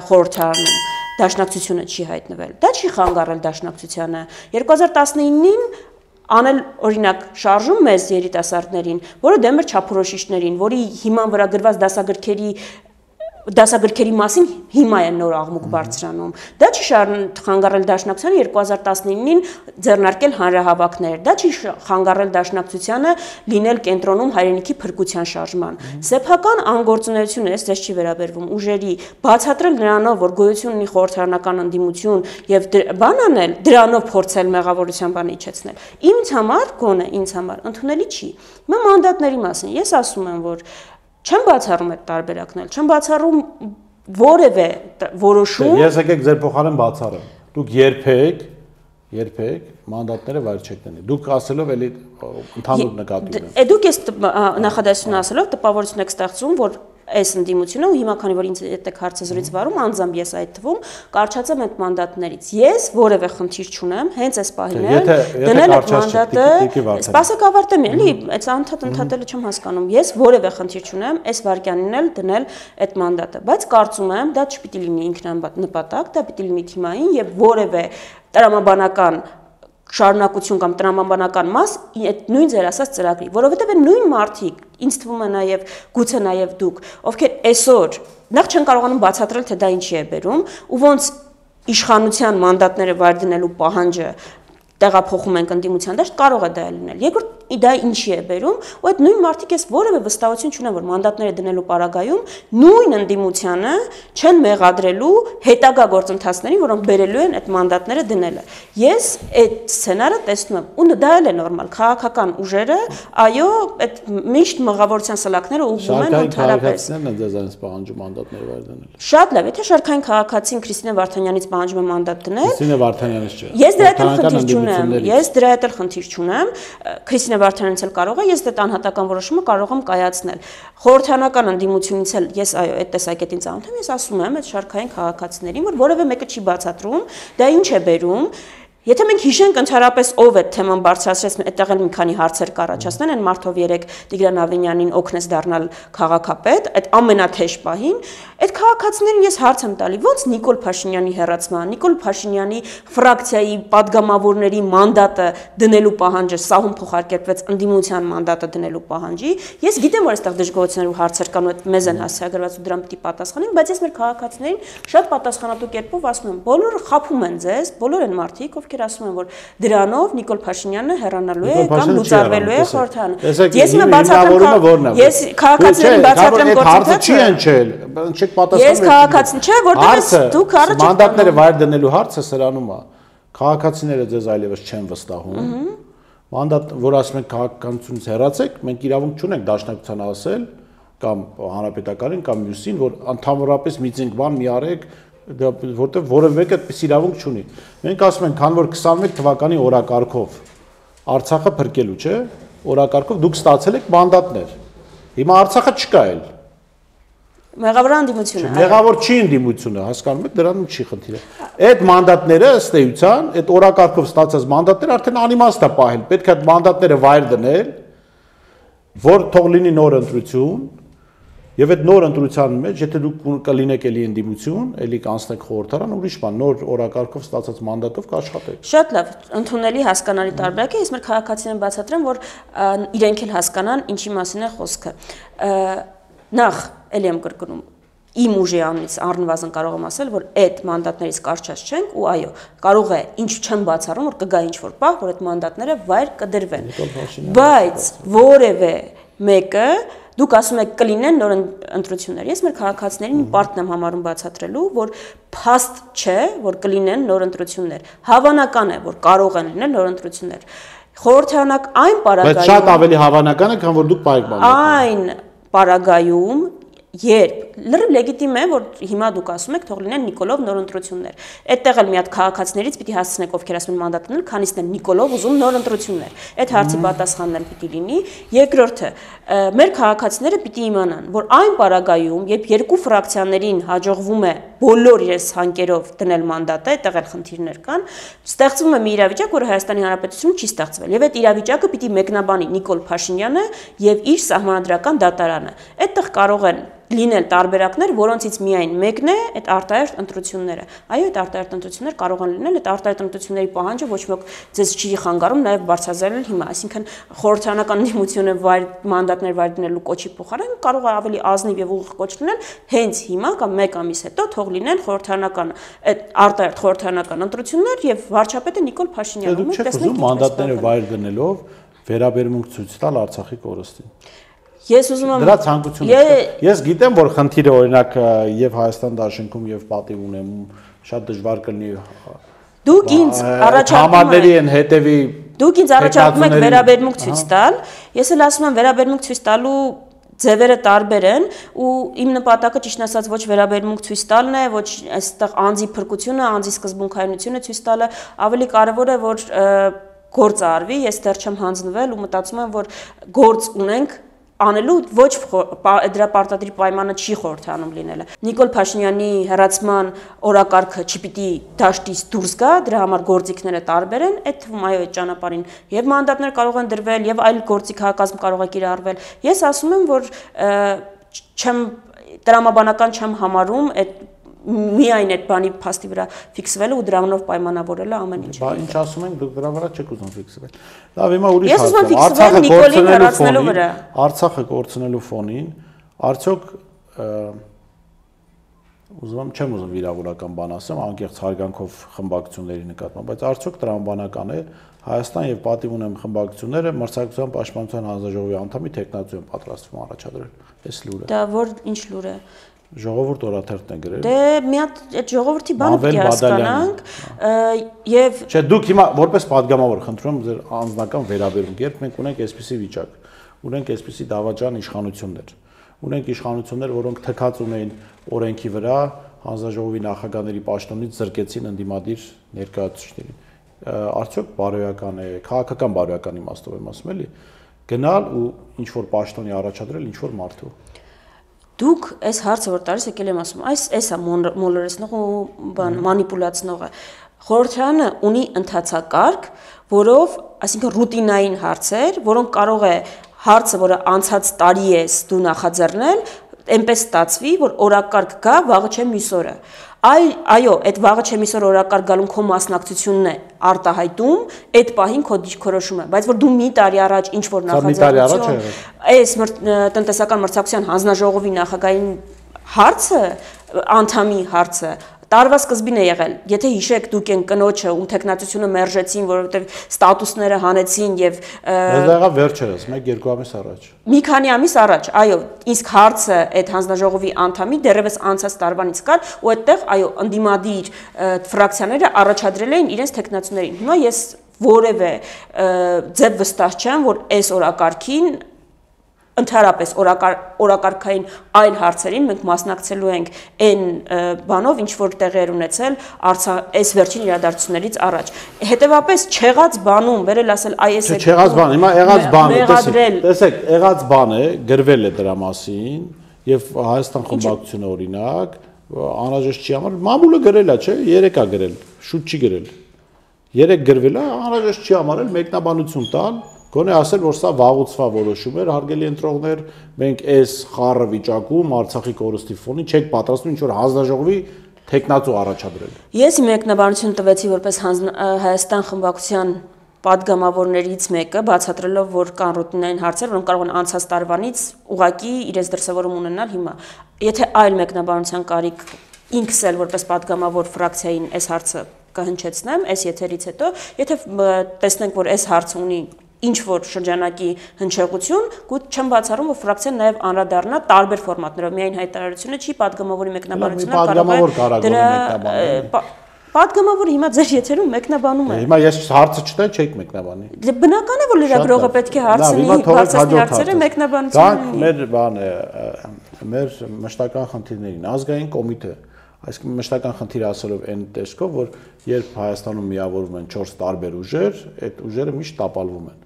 խորհրդարանում, դաշնակցությունը չի հայտնվել։ Դա չի խանգարել դաշնակցությանը։ 2019-ին անել օրինակ շարժում մեզ երիտասարդներին, որը դեմ էր չափորոշիչներին, որի հիման վրա գրված դասագրքերի մասին հիմա են նոր աղմուկ բարձրանում։ Դա չի խանգարել դաշնակցությանը 2019-ին ձեռնարկել հանրահավաքներ, դա չի խանգարել դաշնակցությանը լինել կենտրոնում հայրենիքի փրկության շարժման։ Սեփական անգործունեությունը էս դες չի վերաբերվում ուժերի բացատրել նրանով, որ գոյություն ունի խորհրդարանական ընդդիմություն եւ բան անել, դրանով փորձել մեղավորության բանը իջեցնել։ Ինձ համար, գոնե ինձ համար ընդունելի չի։ Հիմա մանդատների մասին ես ասում եմ, որ չեմ բացառում այդ տարբերակնել, չեմ բացառում որևէ որոշում։ Ես եկեք ձեր փոխարեն բացառեմ։ Դուք երբեք մանդատները վայր չեք դնի։ Դուք ասելով էլի ընդհանուր նկատի ունեմ։ Դուք այս նախադասությունը ասելով տպավորություն եք ստեղծում, որ այս ընդդիմությունը ու հիմա քանի որ ինձ այդտեղ հարցազրույց վարում անձամբ ես այդ թվում կարճացեմ այդ մանդատներից ես որևէ խնդիր չունեմ հենց այս պահին դնել այդ մանդատը սպասեք ավարտեմ էլի այս անդադը չեմ հասկանում ես որևէ խնդիր չունեմ այս վարքյանին էլ դնել այդ մանդատը բայց կարծում եմ դա չպիտի լինի ինքնանպատակ դա պիտի լինի թիմային եւ որևէ տրամաբանական շարունակություն կամ տրամաբանական մաս այդ նույն ձեր ասած ծրագրի, որովհետև այն նույն մարդիկ, ինձ թվում է նաև գուցե նաև դուք, ովքեր այսօր նախ չեն կարողանում բացատրել, թե դա ինչի է բերում, ու ոնց իշխանության մանդատները վայր դնելու պահանջը տեղափոխում ենք ընդդիմության դաշտ, կարող է դա լինել։ Երկրորդ դա ինչի է բերում, ու այդ նույն մարդիկ էս որևէ վստահություն չունեն, որ մանդատները դնելու պարագայում նույն ընդդիմությանը չեն մեղադրելու հետագա գործընթացներին, որոնք բերելու են այդ մանդատները դնելը։ Ես այդ սցենարը տեսնում եմ, ու դա էլ է նորմալ, քաղաքական ուժերը, այո, այդ միշտ մղավորության սլաքները ուղղում են ընդհանրապես։ Շարքային քաղաքացիներն են ձեզ այնպես պահանջում մանդատները վայր դնել։ Շատ լավ, եթե շարքային քաղաքացին Քրիստինե Վարդանյանից պահանջում է մանդատ դնել։ Քրիստինե Վարդանյանից չէ։ Ես դրա հետ խնդիր չունեմ։ Ես դրա հետ խնդիր չունեմ։ Քրիստինե Վարդանյանից էլ կարող է, ես դա անհատական որոշումը կարող եմ կայացնել։ Խորհրդանական ընդդիմությունից էլ ես այո, այդ տեսակետին ծանոթ եմ, ես ասում եմ այդ շարքային քաղաքացիներին, որ որևէ մեկը չի բացատրում, դա ինչ է բերում։ Եթե մենք հիշենք ընդհանրապես ով է թեման բարձրացրեց, այդտեղ էլ մի քանի հարցեր կառաջացնեն, այն մարդով երեք Տիգրան Ավենյանին օգնեց դառնալ քաղաքապետ, այդ ամենաթեժ պահին, այդ քաղաքացիներին ես հարց եմ տալի, ոնց Նիկոլ Փաշինյանի հեռացման, Նիկոլ Փաշինյանի ֆրակցիայի падգամավորների մանդատը դնելու պահանջը սահուն փոխարկեցվեց ընդդիմության մանդատը դնելու պահանջի, ես գիտեմ, որ այստեղ դժգոհություններ ու հարցեր կան ու այդ մեզ են հասցեագրված ու դրան պիտի պատասխանեն, բայց ես մեր քաղաքացիներին շատ պատասխանատու կերպով ասում եմ, բոլորը խաբում են ձեզ, բոլոր են մարդիկ, ովքեր ասում են, որ դրանով Նիկոլ Փաշինյանը հեռանալու է կամ լուծարվելու է խորհրդարանը։ Ես մը բացատրեմ, ես քաղաքացիներին բացատրեմ գործընթացը։ Ես քաղաքացին չէ, որտեղ դուք առաջ մանդատները վայր դնելու հարցը սրանում է։ Քաղաքացիները ձեզ այլևս չեն վստահում։ Մանդատ, որ ասում են քաղաքականությունից հեռացեք, մենք իրավունք չունենք դաշնակցության ասել կամ հանրապետականին կամ մյուսին, որ ընդհանրապես միծինգ բան մի արեք, որտեղ որևէ մեկը այդպես իրավունք չունի։ Մենք ասում ենք, քան որ 21 թվականի օրակարգով Արցախը փրկելու, չէ՞, օրակարգով դուք ստացել եք մանդատներ։ Հիմա Արցախը չկա էլ։ Մեղավոր ընդդիմությունը։ Մեղավոր չի ընդդիմությունը, հասկանում եք, դրանում չի խնդիրը։ Այդ մանդատները ըստ էության, այդ օրակարգով ստացած մանդատները արդեն անիմաստ է պահել։ Պետք է այդ մանդատները վայր դնել, որ թող լինի նոր ընտրություն, եւ այդ նոր ընտրության մեջ, եթե դուք կլինեք էլի ընդդիմություն, էլի կանցնեք խորհրդարան, ուրիշ բան, նոր օրակարգով ստացած մանդատով կաշխատեք։ Շատ լավ, ընդունելի հասկանալի տարբերակ է, ես մեր քաղաքացիներին բացատրեմ, որ իրենք էլ հասկանան, ինչի մասին է խոսքը։ Նախ էլի եմ կրկնում, իմ ուժի անունից առնվազն կարող եմ ասել, որ այդ մանդատներից կարճած չենք ու այո, կարող է ինչ չեմ բացառում, որ կգա ինչ-որ պահ, որ այդ մանդատները վայր կդրվեն։ Բայց որևէ մեկը դուք ասում եք կլինեն նոր ընտրություններ։ Ես մեր քաղաքացիներին պարտն եմ համարում բացատրելու, որ փաստ չէ, որ կլինեն նոր ընտրություններ։ Հավանական է, որ կարող են լինել նոր ընտրություններ։ Խորհրդարանակ այն պարագայում Բայց շատ ավելի հավանական է, քան որ դուք պայք բան։ Այն պարագայում երբ լրիվ լեգիտիմ է, որ հիմա դուք ասում եք թող լինեն Նիկոլով նոր ընտրություններ։ Այդտեղ էլ մի հատ քաղաքացիներից պիտի հասցնեք, ովքեր ասում են մանդատ դնել, քանիսն են Նիկոլով ուզում նոր ընտրություններ։ Այդ հարցի պատասխանն էլ պիտի լինի։ Երկրորդը, մեր քաղաքացիները պիտի իմանան, որ այն պարագայում, երբ երկու ֆրակցիաներին հաջողվում է բոլոր իրենց հանկերով դնել մանդատը, այդտեղ էլ խնդիրներ կան, ստեղծվում է մի իրավիճակ, որը Հայաստանի Հանրապետությունում չի ստեղծվել։ Եվ այդ իրավիճակը պիտի մեկնաբանի Նիկոլ Փաշինյանը եւ իր սահմանադրական դատարանը։ Այդտեղ կարող են լինել տարբերակներ, որոնցից միայն մեկն է այդ արտահերթ ընտրությունները։ Այո, այդ արտահերթ ընտրություններ կարող են լինել, այդ արտահերթ ընտրությունների պահանջը ոչ ոք ձեզ չի խանգարում նաև բարձրացնել հիմա, այսինքն խորհրդարանական ընդդիմությունը մանդատներ վայր դնելու կոչի փոխարեն կարող է ավելի ազնիվ եւ ուղիղ կոչ լինել հենց հիմա կամ 1 ամիս հետո թող լինեն խորհրդարանական այդ արտահերթ խորհրդարանական ընտրություններ եւ վարչապետը Նիկոլ Փաշինյանը։ Դուք տեսնեք մանդատները վայր դնելով վերաբերմունք ցույց տալ Արցախի կորստին։ Ես ուզում եմ դրա ցանկությունը ես գիտեմ որ խնդիրը օրինակ եւ Հայաստան դաշնքում եւ պատիվ ունեմ շատ դժվար կլինի դուք ինձ համարների են հետեւի դուք ինձ առաջարկում եք վերաբերմունք ցույց տալ ես էլ ասում եմ վերաբերմունք ցույց տալու ձևերը տարբեր են ու իմ նպատակը ճիշտ ասած ոչ վերաբերմունք ցույց տալն է, ոչ այստեղ անձի փրկությունը, անձի սկզբունքայնությունը ցույց տալը, ավելի կարևոր է որ գործ արվի, ես դեռ չեմ հանձնվել ու մտածում եմ որ գործ ունենք անելու ոչ դրա պարտադիր պայմանը չի խորհրդանում լինելը։ Նիկոլ Փաշինյանի հեռացման օրակարգը չպիտի դաշտից դուրս գա, դրա համար գործիքները տարբեր են, այդ թվում այո այդ ճանապարհին եւ մանդատներ կարող են դրվել եւ այլ գործիքահակազմ կարող է կիրառվել։ Ես ասում եմ որ չեմ տրամաբանական չեմ համարում այդ միայն այդ բանի փաստի վրա ֆիքսվելը ու դրանով պայմանավորելը ամեն ինչ։ Բա ինչ ասում ենք, դուք դրա վրա չեք ուզում ֆիքսվել։ Լավ, հիմա ուրիշ Ես ուզում եմ ֆիքսվել Նիկոլին հեռացնելու վրա։ Արցախը կորցնելու ֆոնին, արդյոք չեմ ուզում վիրավորական բան ասեմ, անկեղծ հարգանքով խմբակցությունների նկատմամբ, բայց արդյոք տրամաբանական է Հայաստան եւ պատիվ ունեմ խմբակցությունները մրցակցության պաշտպանության հանձնաժողովի անդամի տեխնացու են պատրաստվում առաջադրել։ Այս լուրը։ Դա որ ինչ լուր է։ Ժողովուրդ օրաթերթն է գրել։ Դե մի հատ այդ ժողովրդի բանը պետք է հասկանանք եւ Չէ, դուք հիմա որպես падգամավոր խնդրում եմ ձեր անձնական վերաբերմունք, երբ մենք ունենք այսպիսի վիճակ, ունենք այսպիսի դավաճան իշխանություններ, ունենք իշխանություններ, որոնք թքած ունեին օրենքի վրա, հանձնաժողովի նախագահների պաշտոնից զրկեցին ընդդիմադիր ներկայացուցիչներին։ Արդյոք բարոյական է, քաղաքական բարոյական իմաստով եմ ասում էլի, գնալ ու ինչ որ պաշտոնի առաջադրել ինչ որ մարդու։ Դուք այս հարցը որ տալիս եկել եմ ասում, էսա մոլորեցնող ու մանիպուլացնողը։ Խորհրդարանը ունի ընթացակարգ, որով, այսինքն ռուտինային հարցեր, որոնք կարող է հարցը, որը անցած տարի ես դու նախաձեռնել, այնպես ստացվի, որ օրակարգ գա, վաղը չէ մյուս օրը։ Այո, այդ վաղը չէ մյուս օր օրակարգ գալուն քո մասնակցությունն է արտահայտում, այդ պահին քո դիրքորոշումը, բայց որ դու մի տարի առաջ ինչ որ նախաձեռնություն, այս տնտեսական մրցակցության հանձնաժողովի նախագահային հարցը, անդամի հարցը տարվա սկզբին է եղել, եթե հիշեք դուք են կնոջը ում տեխնացությունը մերժեցին, որովհետև ստատուսները հանեցին եւ Դա եղավ վերջերս, 1-2 ամիս առաջ։ Մի քանի ամիս առաջ, այո, իսկ հարցը այդ հանձնաժողովի անդամի դեռևս անցած տարվանից կար ու այդտեղ այո, ընդդիմադիր ֆրակցիաները առաջադրել էին իրենց տեխնացուներին։ Հիմա ես որևէ ձև վստահ չեմ, որ այս օրակարգին ընդհանրապես օրակարգային այլ հարցերին մենք մասնակցելու ենք այն բանով, ինչ որ տեղի էր ունեցել այս վերջին իրադարձություններից առաջ։ Հետևաբար չեղած բանում վերել ասել այս է չեղած բան, հիմա եղած բան է, տեսեք, եղած բան է, գրվել է դրա մասին եւ Հայաստան խմբակցությունը օրինակ անհրաժեշտ չի համար, մամուլը գրել է, չէ, 3 է գրել, շուտ չի գրել։ 3 գրվել է, անհրաժեշտ չի համարել մեկնաբանություն տալ Գոնե ասել, որ սա վաղուցվա որոշում էր, հարգելի ընտրողներ, մենք այս խառը վիճակում Արցախի կորստի ֆոնին չեք պատրաստվում ինչ որ հանձնաժողովի տեխնացու առաջադրել։ Ես մեկնաբանություն տվեցի որպես Հայաստան խմբակցության падգամավորներից մեկը, բացատրելով, որ կան ռուտինային հարցեր, որոնք կարող են անցած տարվանից ուղղակի իրենց դրսևորում ունենալ հիմա։ Եթե այլ մեկնաբանության կարիք ինքս էլ որպես падգամավոր ֆրակցիային այս հարցը կհնչեցնեմ, այս եթերից հետո, եթե տեսնենք, որ այս հարցը ունի ինչ որ շրջանակի հնչեղություն, գուցե չեմ բացառում, որ ֆրակցիան նաև անդրադառնա տարբեր ֆորմատներով, միայն հայտարարությունը չի, падգամավորի մեկնաբանությունը կարող է Պատգամավորը հիմա ձեր եթերում մեկնաբանում է։ Հիմա ես հարցը չտա, չեք մեկնաբանի։ Դե բնական է, որ լրագրողը պետք է հարցնի, բացասի հարցերը մեկնաբանությունը։ Մեր բան է, մեր մշտական խնդիրներին ազգային կոմիտե, այսինքն մշտական խնդիր ասելով այն տեսքով, որ երբ Հայաստանում միավորվում են 4 տարբեր ուժեր, այդ ուժերը միշտ տապալվում են։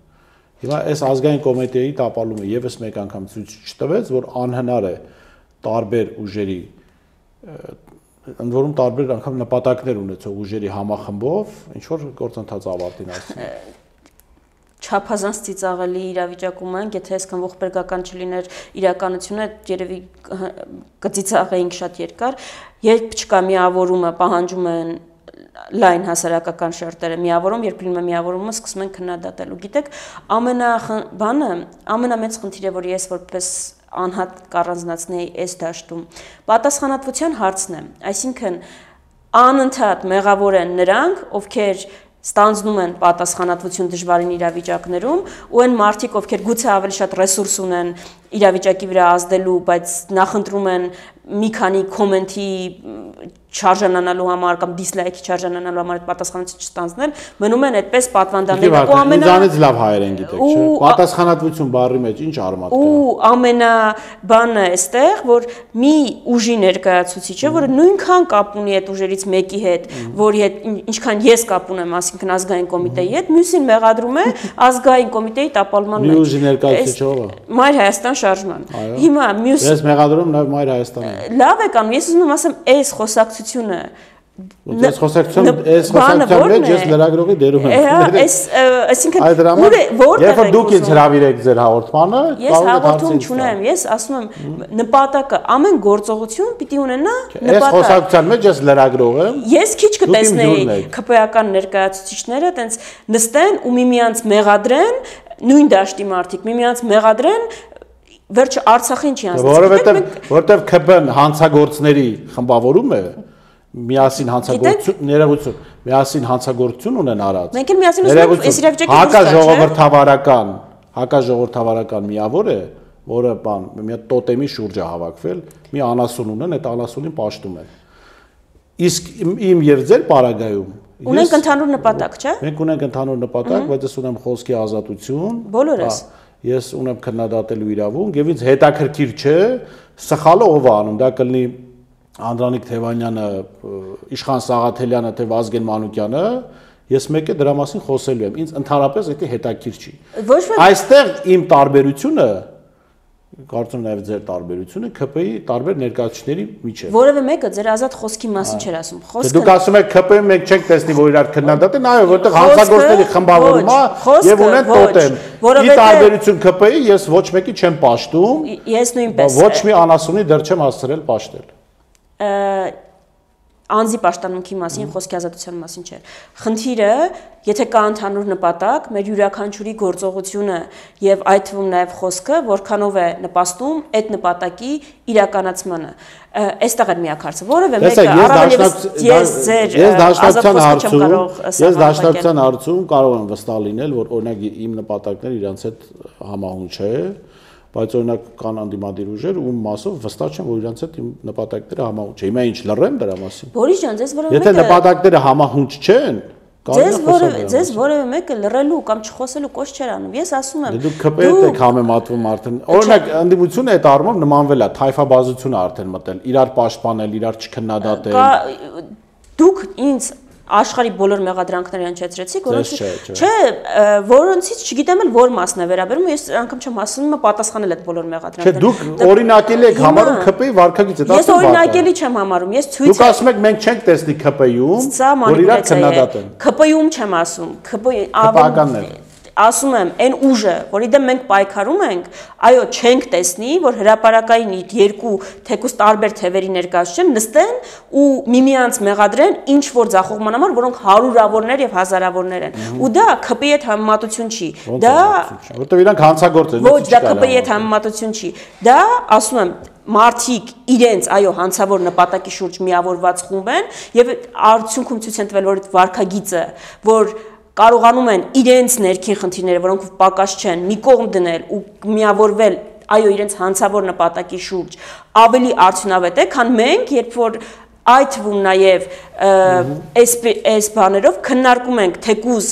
Հիմա այս ազգային կոմիտեի տապալումը եւս մեկ անգամ ցույց չտվեց, որ անհնար է տարբեր ուժերի ընդ որում տարբեր անգամ նպատակներ ունեցող ուժերի համախմբով ինչ որ գործընթաց ավարտին ասում։ Չափազանց ծիծաղելի իրավիճակում ենք, եթե այսքան ողբերգական չլիներ իրականությունը, երևի կծիծաղեինք շատ երկար, երբ չկա միավորումը, պահանջում են լայն հասարակական շերտերը միավորում, երբ լինում է միավորումը, սկսում են քննադատել։ Ու գիտեք, ամենամեծ խնդիրը, որ ես որպես անհատ կառանձնացնեի այս դաշտում, պատասխանատվության հարցն է, այսինքն անընդհատ մեղավոր են նրանք, ովքեր ստանձնում են պատասխանատվություն դժվարին իրավիճակներում ու այն մարդիկ, ովքեր գուցե ավելի շատ ռեսուրս ունեն, իրավիճակի վրա ազդելու, բայց նախընտրում են մի քանի կոմենտի չարժանանալու համար կամ դիսլայքի չարժանանալու համար այդ պատասխանատվություն չստանձնել, մնում են այդպես պատվանդաններ ու ամենից լավ հայերեն գիտեք, չէ՞։ Պատասխանատվություն բառի մեջ ինչ արմատ կա։ Ու ամենաբանը էստեղ, որ մի ուժի ներկայացուցիչը, որը նույնքան կապ ունի այդ ուժերից մեկի հետ, որի հետ ինչքան ես կապ ունեմ, ասինքն ազգային կոմիտեի հետ, մյուսին մեղադրում է ազգային կոմիտեի տապալման մեջ։ Մի ուժի ներկայացուցիչը ով է։ Մայր Հայաստան շարժման։ Հիմա մյուս Ես մեղադրում նաև Մայր Հայաստանին։ Լավ է կանում, ես ուզում եմ ասեմ, այս խոսակցությունը Ես խոսակցության մեջ ես լրագրողի դերում եմ։ Այսինքն Երբ դուք ինձ հրավիրեք ձեր հաղորդմանը, ես հաղորդում չունեմ, ես ասում եմ նպատակը ամեն գործողություն պիտի ունենա նպատակ։ Ես խոսակցության մեջ ես լրագրող եմ։ Ես քիչ կտեսնեի ԿՊ-ական ներկայացուցիչները տենց նստեն ու միմյանց մեղադրեն, նույն դաշտի մարդիկ միմյանց մեղադրեն վերջը Արցախին չի անցնի։ Որովհետև ԿՊ-ն հանցագործների խմբավորում է, միասին հանցագործություն ունեն արած։ Մենք էլ միասին ուզում ենք այս իրավիճակի հակաժողովրդավարական միավոր է, որը մի հատ տոտեմի շուրջ է հավաքվել, մի անասուն ունեն, այդ անասունին պաշտում են։ Իսկ իմ եւ ձեր պարագայում ունենք ընդհանուր նպատակ, չէ՞։ Մենք ունենք ընդհանուր նպատակ, բայց ես ունեմ խոսքի ազատություն։ Բոլորս։ Ես ունեմ քննադատելու իրավունք եւ ինձ հետաքրքիր չէ սխալը ով է անում, դա կլինի Անդրանիկ Թևանյանը, Իշխան Սաղաթելյանը, թե Վազգեն Մանուկյանը, ես մեկ է դրա մասին խոսելու եմ, ինձ ընդհանրապես դա հետաքրքիր չի։ Այստեղ իմ տարբերությունը, կարծում նաև ձեր տարբերությունը ԿՊ-ի տարբեր ներկայացուցիչների միջև։ Որևէ մեկը ձեր ազատ խոսքի մասին չէր ասում։ Դուք ասում եք ԿՊ-ում մենք չենք տեսնի, որ իրար քննադատեն, այո, որտեղ հանցագործների խմբավորում է եւ ունեն տոտեմ։ Ի տարբերություն ԿՊ-ի ես ոչ մեկի չեմ պաշտում։ Ես նույնպես։ Ոչ մի անասունի դեռ չեմ հասցրել պաշտել։ Անձի պաշտամունքի մասին, խոսքի ազատության մասին չէ։ Խնդիրը, եթե կա ընդհանուր նպատակ, մեր յուրաքանչյուրի գործողությունը եւ այդ թվում նաեւ խոսքը, որքանով է նպաստում այդ նպատակի իրականացմանը։ Այստեղ է միակարծը, որևէ մեկը առավելևս ես ձեր դաշնակցության հարցում կարող եմ վստահ լինել, որ օրինակ իմ նպատակները իրանց հետ համահունչ է, բայց օրինակ կան անդիմադիր ուժեր, ում մասով վստահ չեմ, որ իրանց հետ իմ նպատակները համահունչ է։ Հիմա ինչ լռեմ դրա մասին։ Բորիս ջան, ձեզ որևէ Եթե նպատակները համահունչ չեն, ձեզ որևէ մեկը լռելու կամ չխոսելու կոչ չեր անում։ Ես ասում եմ, դուք ԿՊ-դ եք համեմատվում արդեն։ Օրինակ անդիմությունը այդ առումով նմանվել է, թայֆաբազությունը արդեն մտել, իրար պաշտպանել, իրար չքննադատել։ Դուք ինձ աշխարհի բոլոր մեղադրանքները հնչեցրեցիք, որոնցից չգիտեմ էլ որ մասն է վերաբերում, ես անգամ չեմ հասնում պատասխանել այդ բոլոր մեղադրանքներին։ Չէ, դուք օրինակելի եք համարում ԿՊ-ի վարքագիծը, դա ես օրինակելի չեմ համարում, ես ցույց Դուք ասում եք մենք չենք տեսնի ԿՊ-ում, որ իրար քննադատեն։ ԿՊ-ում չեմ ասում, ԿՊ-ի ասում եմ, այն ուժը, որի դեմ մենք պայքարում ենք, այո, չենք տեսնի, որ հրապարակային երկու թեկուզ տարբեր թևերի ներկայացուցիչներ նստեն ու միմյանց մեղադրեն ինչ որ ձախողման համար, որոնք հարյուրավորներ եւ հազարավորներ են։ Ու դա ԿՊ-ի հետ համեմատություն չի։ Դա որտեղ իրանք հանցագործ են։ Ոչ, դա ԿՊ-ի հետ համեմատություն չի։ Դա ասում եմ մարդիկ իրենց այո հանցավոր նպատակի շուրջ միավորված խումբ են եւ արդյունքում ցույց են տվել որ վարքագիծը, որ կարողանում են իրենց ներքին խնդիրները, որոնք պակաս չեն, մի կողմ դնել ու միավորվել այո իրենց հանցավոր նպատակի շուրջ, ավելի արդյունավետ է, քան մենք, երբ որ այդ թվում նաև այս բաներով քննարկում ենք թեկուզ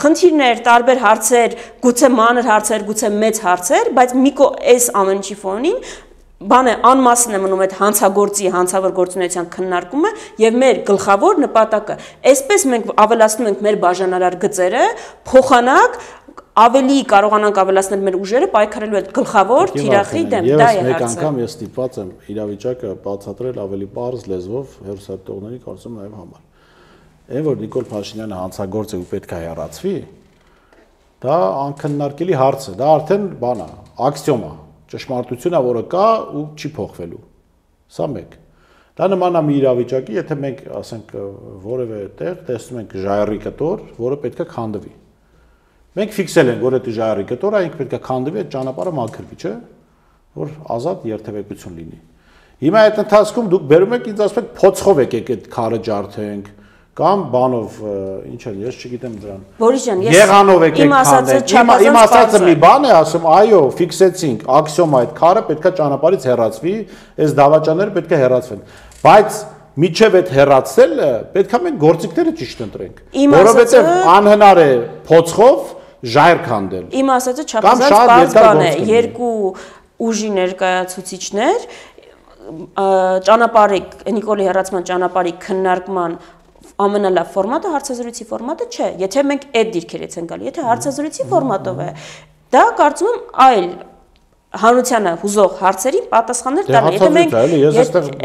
խնդիրներ, տարբեր հարցեր, գուցե մանր հարցեր, գուցե մեծ հարցեր, բայց այս ամեն ինչի ֆոնին բանը անմասն է մնում այդ հանցագործի հանցավոր գործունեության քննարկումը եւ մեր գլխավոր նպատակը այսպես մենք ավելացնում ենք մեր բաժանարար գծերը փոխանակ ավելի կարողանանք ավելացնել մեր ուժերը պայքարելու այդ գլխավոր թիրախի դեմ դա է հարցը։ Մեկ անգամ ես ստիպված եմ իրավիճակը բացատրել ավելի པարզ լեզվով հերոսատողների կարծում նաեւ համար։ Այն որ Նիկոլ Փաշինյանը հանցագործ է ու պետք է հեռացվի, դա անքննարկելի հարց է, դա արդեն բան է, աքսիոմ է։ Ճշմարտությունն է, որը կա ու չի փոխվելու։ Սա մեկ։ Դա նման է մի իրավիճակի, եթե մենք, ասենք, որևէ տեղ տեսնում ենք ժայռի կտոր, որը պետք է քանդվի։ Մենք ֆիքսել ենք, որ այդ ժայռի կտորը ինքը պետք է քանդվի, այդ ճանապարհը մաքրվի, չէ՞, որ ազատ երթևեկություն լինի։ Հիմա այդ ընթացքում դուք բերում եք ինձ ասում եք փոցխով եկեք այդ քարը ջարդենք, Կամ բանով, ինչ է, ես չգիտեմ դրան։ Բորիս ջան, ես եղանով եկեք քանդեք։ Իմ ասածը մի բան է, ասում, այո, ֆիքսեցինք, աքսիոմա այդ քարը պետքա ճանապարհից հեռացվի, այս դավաճանները պետքա հեռացվեն։ Բայց միջև այդ հեռացելը պետքա մենք գործիքները ճիշտ ընտրենք, որովհետև անհնար է փոցխով ժայռ քանդել։ Իմ ասածը չափազանց բարձ բան է, երկու ուժի ներկայացուցիչներ ճանապարհի Նիկոլի հեռացման ճանապարհի քննարկման ամենալավ ֆորմատը հարցազրույցի ֆորմատը չէ, եթե մենք այդ դիրքերից ենք գալի, եթե հարցազրույցի ֆորմատով է, դա կարծում եմ այլ հանրությանը հուզող հարցերին պատասխաններ տալը, եթե մենք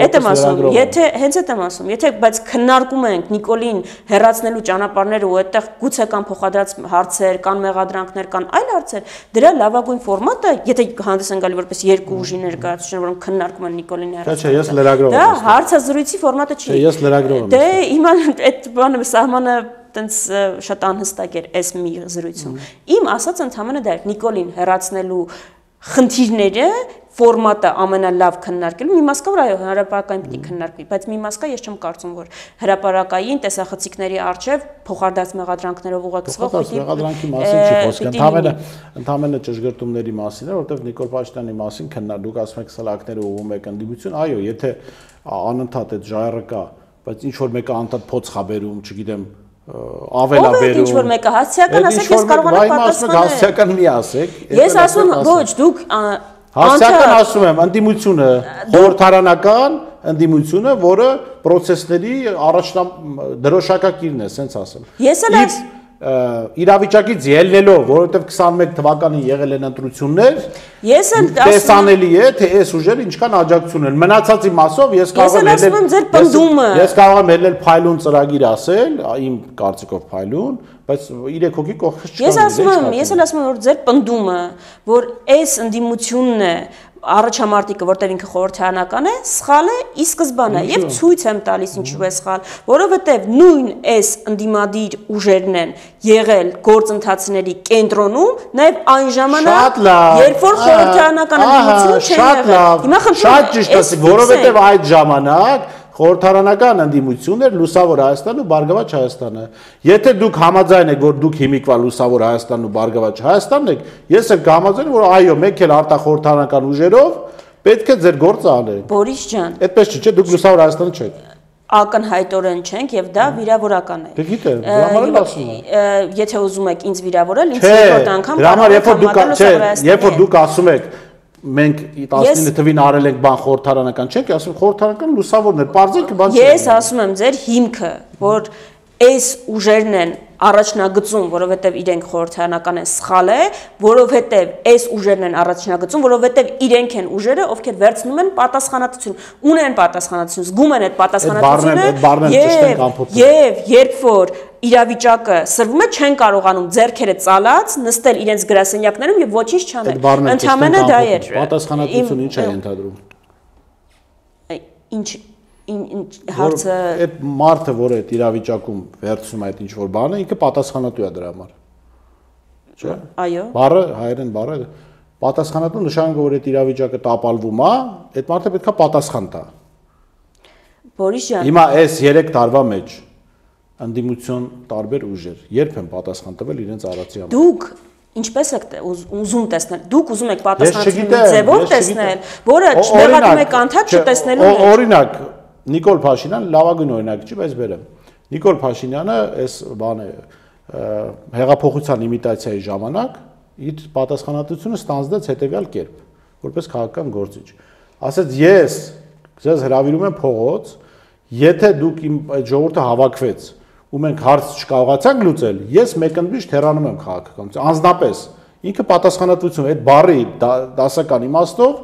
այդ եմ ասում, եթե հենց այդ եմ ասում, եթե բայց քննարկում ենք Նիկոլին հեռացնելու ճանապարհները ու այդտեղ գուցե կան փոխադրած հարցեր, կան մեղադրանքներ, կան այլ հարցեր, դրա լավագույն ֆորմատը, եթե հանդես են գալի որպես երկու ուժի ներկայացուցիչներ, որոնք քննարկում են Նիկոլին հեռացնելը, դա հարցազրույցի ֆորմատը չի։ Ես լրագրող եմ։ Դե հիմա այդ բանը սահմանը տենց շատ անհստակ էր այս մի զրույցում։ Իմ ասած ընդհանրապես դա էր Նիկոլին հեռացնելու խնդիրները ֆորմատը ամենալավ քննարկելու մի մաս կա որ այո հրապարակային պիտի քննարկվի բայց մի մաս կա ես չեմ կարծում որ հրապարակային տեսախցիկների արժև փոխարդած մեղադրանքներով ուղեկցվող պիտի մեղադրանքի մասին չի խոսքը ընդհանրապես ճշգրտումների մասին է որովհետև Նիկոլ Փաշինյանի մասին քննարկում ասում եք սլակները ուղում եք ընդդիմություն այո եթե անընդհատ այդ ժայռը կա բայց ինչ որ մեկը անընդհատ փոց խաբերում չգիտեմ ավելաբերում ինչ որ մեկը հասցեական ասեք ես կարողանամ պատասխանել հասցեական մի ասեք ես ասում ոչ դուք հասցեական ասում եմ ընդդիմությունը խորհրդարանական ընդդիմությունը որը process-ների դրոշակակիրն է սենց ասեմ ես էլ իրավիճակից ելնելով, որովհետև 21 թվականին եղել են ընտրություններ, ես էլ տեսանելի է, թե այս ուժերը ինչքան աջակցություն են։ Մնացածի մասով ես կարող եմ ելնել փայլուն ծրագիր ասել, իմ կարծիքով փայլուն, բայց 3 հոգի կողքից չկան։ Ես էլ ասում եմ, որ ձեր պնդումը, որ այս ընդդիմությունն է առաջամարտիկը, որտեղ ինքը խորհրդարանական է, սխալ է ի սկզբանե եւ ցույց եմ տալիս ինչու է սխալ, որովհետեւ նույն այս ընդդիմադիր ուժերն են եղել գործընթացների կենտրոնում, նաեւ այն ժամանակ, երբ որ խորհրդարանական ընդդիմությունը չէր եղել։ Հիմա խնդրում եմ, շատ ճիշտ ասի, որովհետեւ այդ ժամանակ խորհրդարանական ընդդիմությունն էր Լուսավոր Հայաստանն ու Բարգավաճ Հայաստանը։ Եթե դուք համաձայն եք, որ դուք հիմիկվա Լուսավոր Հայաստանն ու Բարգավաճ Հայաստանն եք, ես էլ կհամաձայնեմ, որ այո, մենք էլ արտախորհրդարանական ուժերով պետք է ձեր գործը անենք։ Բորիս ջան, այդպես չի, չէ՞, դուք Լուսավոր Հայաստանը չեք։ Ակնհայտորեն չենք եւ դա վիրավորական է։ Դե գիտեմ, դրա համար էլ ասում եմ։ Եթե ուզում եք ինձ վիրավորել, ինձ երկրորդ անգամ երբ որ դուք ասում եք մենք 19 թվին արել ենք բան խորհրդարանական չենք, ասում խորհրդարանական լուսավորն էր, բարձր բան չէ։ Ես ասում եմ ձեր հիմքը, որ այս ուժերն են առաջնագծում, որովհետև իրենք խորհրդարանական են սխալ է, որովհետև այս ուժերն են առաջնագծում, որովհետև իրենք են ուժերը, ովքեր վերցնում են պատասխանատվություն, ունեն պատասխանատվություն, զգում են այդ պատասխանատվությունը, եւ երբ որ իրավիճակը սրվում է, չեն կարողանում ձեռքերը ծալած նստել իրենց գրասենյակներում եւ ոչինչ չանել։ Ընդհանրապես դա էր։ Պատասխանատվությունը ինչ է ենթադրում։ Ինչ հարցը այդ մարդը, որ այդ իրավիճակում վերցնում է այդ ինչ որ բանը, ինքը պատասխանատու է դրա համար։ Չէ՞։ Այո։ Բառը հայերեն բառը պատասխանատու նշանակում որ այդ իրավիճակը տապալվում է, այդ մարդը պետքա պատասխան տա։ Բորիս ջան։ Հիմա այս 3 տարվա մեջ ընդդիմություն տարբեր ուժեր երբ են պատասխան տվել իրենց արածի համար։ Դուք ինչպես եք ուզում տեսնել։ Դուք ուզում եք պատասխանատվի ձևով տեսնել, որը չմեղադրում եք անդադ չտեսնելու մեջ։ Օրինակ Նիկոլ Փաշինյան լավագույն օրինակ չի, բայց բերեմ։ Նիկոլ Փաշինյանը այս բանը հեղափոխության իմիտացիայի ժամանակ իր պատասխանատվությունը ստանձնեց հետևյալ կերպ, որպես քաղաքական գործիչ։ Ասեց ես ձեզ հրավիրում եմ փողոց, եթե դուք իմ այդ ժողովուրդը հավաքվեց ու մենք հարց չկարողացանք լուծել, ես մեկընդմիշտ հեռանում եմ քաղաքականությունից։ Անձնապես ինքը պատասխանատվություն այդ բառի դասական իմաստով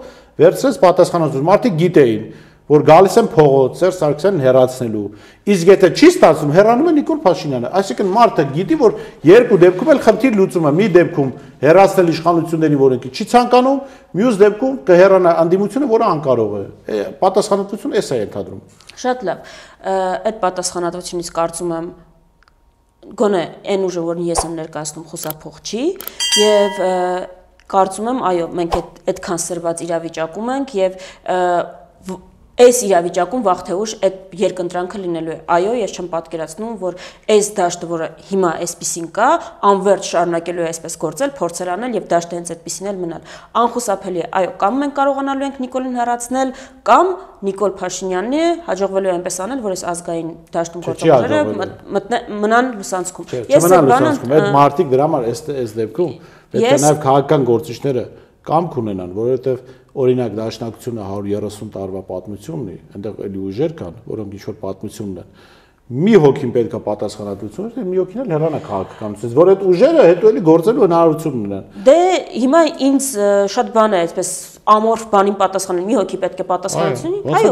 վերցրեց պատասխանատվություն։ Մարդիկ գիտեին որ գալիս են փողոց Սերժ Սարգսյանին հեռացնելու։ Իսկ եթե չի ստացվում, հեռանում է Նիկոլ Փաշինյանը։ Այսինքն մարդը գիտի, որ երկու դեպքում էլ խնդիր լուծում է։ Մի դեպքում հեռացնել իշխանությունների, որոնք չի ցանկանում, մյուս դեպքում կհեռանա ընդդիմությունը, որը անկարող է։ Պատասխանատվությունը էս է ենթադրում։ Շատ լավ։ Այդ պատասխանատվությունից կարծում եմ գոնե այն ուժը, որն ես եմ ներկայացնում, խուսափող չի եւ կարծում եմ, այո, մենք այդքան սրված իրավիճակում ենք եւ Այս իրավիճակում վաղ թե ուշ այդ երկընտրանքը լինելու է։ Այո, ես չեմ պատկերացնում, որ այս դաշտը, որը հիմա այսպեսին կա, անվերջ շարունակելու է այսպես գործել, փորձել անել եւ դաշտը հենց այդպեսին էլ մնալ։ Անխուսափելի է։ Այո, կամ մենք կարողանալու ենք Նիկոլին հեռացնել, կամ Նիկոլ Փաշինյանն հաջողվելու է այնպես անել, որ այս ազգային դաշտում գործողները մնան լուսանցքում։ Ես այդ մարտիկ դրա համար այս դեպքում պետք է նաեւ քաղաքական գործիչները կամք ունենան, որովհետեւ օրինակ դաշնակցությունը 130 տարվա պատմություն ունի, այնտեղ էլի ուժեր կան, որոնք ինչ-որ պատմություն ունեն։ Մի հոգին պետք է պատասխանատվություն ունենա, մի հոգին էլ հեռանա քաղաքականությունից, որ այդ ուժերը հետո էլի գործելու հնարավորություն ունենան։ Դե հիմա ինձ շատ բան է այսպես ամորֆ բանին պատասխանել, մի հոգի պետք է պատասխանատվություն ունի։ Այո,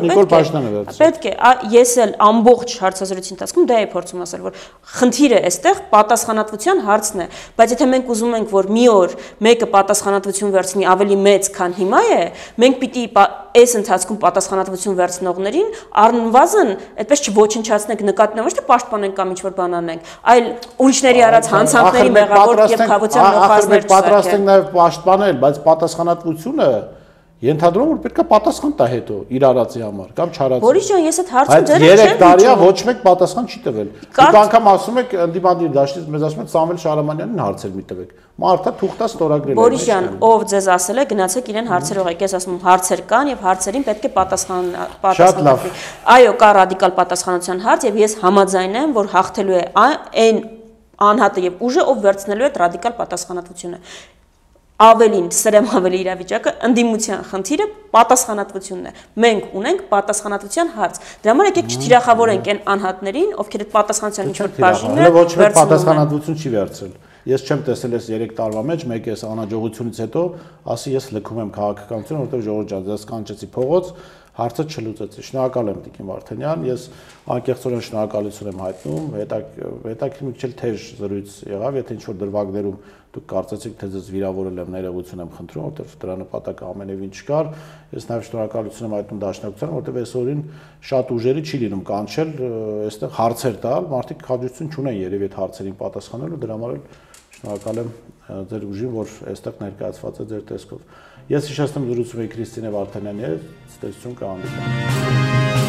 պետք է։ Ես էլ ամբողջ հարցազրույցի ընթացքում դա էի փորձում ասել, որ խնդիրը այստեղ պատասխանատվության հարցն է, բայց եթե մենք ուզում ենք, որ մի օր մեկը պատասխանատվություն վերցնի ավելի մեծ, քան հիմա է, մենք պիտի այս ընթացքում պատասխանատվություն վերցնողներին առնվազն այդպես չոչնչացնենք, նկատի ոչ թե պաշտպանենք կամ ինչ-որ բան անենք, այլ ուրիշների արած հանցանքների մեղավոր եւ խավության նոխազներ չսարքենք։ Պատրաստ ենք նաեւ պաշտպանել, բայց պատասխանատվությունը ենթադրում որ պետք է պատասխան տա հետո իր արածի համար կամ չարածի։ Բորիս ջան, ես այդ հարցը ձեր չեմ։ 3 տարիա ոչ մեկ պատասխան չի տվել։ Դուք անգամ ասում եք ընդդիմադիր դաշտից մեզ ասում եք Սամվել Շարամանյանին հարցեր մի տվեք։ Մարդը թուղթա ստորագրել է։ Բորիս ջան, ով ձեզ ասել է գնացեք իրեն հարցեր ուղղեք, ես ասում հարցեր կան եւ հարցերին պետք է պատասխանատվի։ Այո, կա ռադիկալ պատասխանատվության հարց եւ ես համաձայն եմ, որ հաղթելու է այն անհատը եւ ուժը, ով վերցնելու է այդ ռադիկալ պատասխանատվությունը։ Ավելին, սրեմ ավելի իրավիճակը, ընդդիմության խնդիրը պատասխանատվությունն է։ Մենք ունենք պատասխանատվության հարց։ Դրա համար եկեք չթիրախավորենք այն անհատներին, ովքեր այդ պատասխանատվության ինչ-որ բաժինը ոչ մեկ պատասխանատվություն չի վերցրել։ Ես չեմ տեսել այս 3 տարվա մեջ մեկ էս անհաջողությունից հետո ասի ես լքում եմ քաղաքականությունը, որովհետև ժողովուրդ ջան, ես կանչեցի փողոց, հարցը չլուծեցի։ Շնորհակալ եմ Տիկին Վարդանյան, ես անկեղծորեն շնորհակալություն եմ հայտնում, հետաքրքիր մի քիչ թեժ զրույց եղավ, եթե ինչ-որ դրվագներում դուք կարծեցիք թե ձեզ վիրավորել եմ, ներողություն եմ խնդրում, որովհետև դրա նպատակը ամենևին չկար։ Ես նաև շնորհակալություն եմ հայտնում դաշնակցությանը, որովհետև այսօրին շատ ուժերի չի լինում կանչել, այստեղ հարցեր տալ, մարդիկ հաջողություն չունեն երևի այդ հարցերին պատասխանելու, դրա համար էլ շնորհակալ եմ ձեր ուժին, որ այստեղ ներկայացված է ձեր տեսքով։ Ես հիշեցնում զրուցում էի Քրիստինե Վարդանյանի հետ, ցտեսություն կհանդիպենք։